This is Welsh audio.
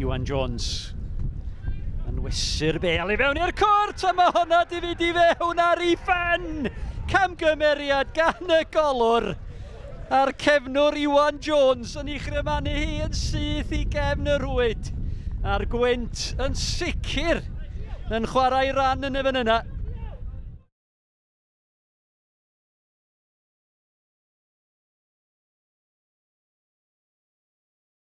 Iwan Jones yn wesu'r bel i fewn i'r cwrt, a mae hwnna di fynd i fewn ar ei phen! Camgymeriad gan y golwr! A'r cefnwr Iwan Jones yn ei chrymanu hi yn syth i gefn y rhwyd. A'r gwynt yn sicr yn chwarae ran yn y fan yna.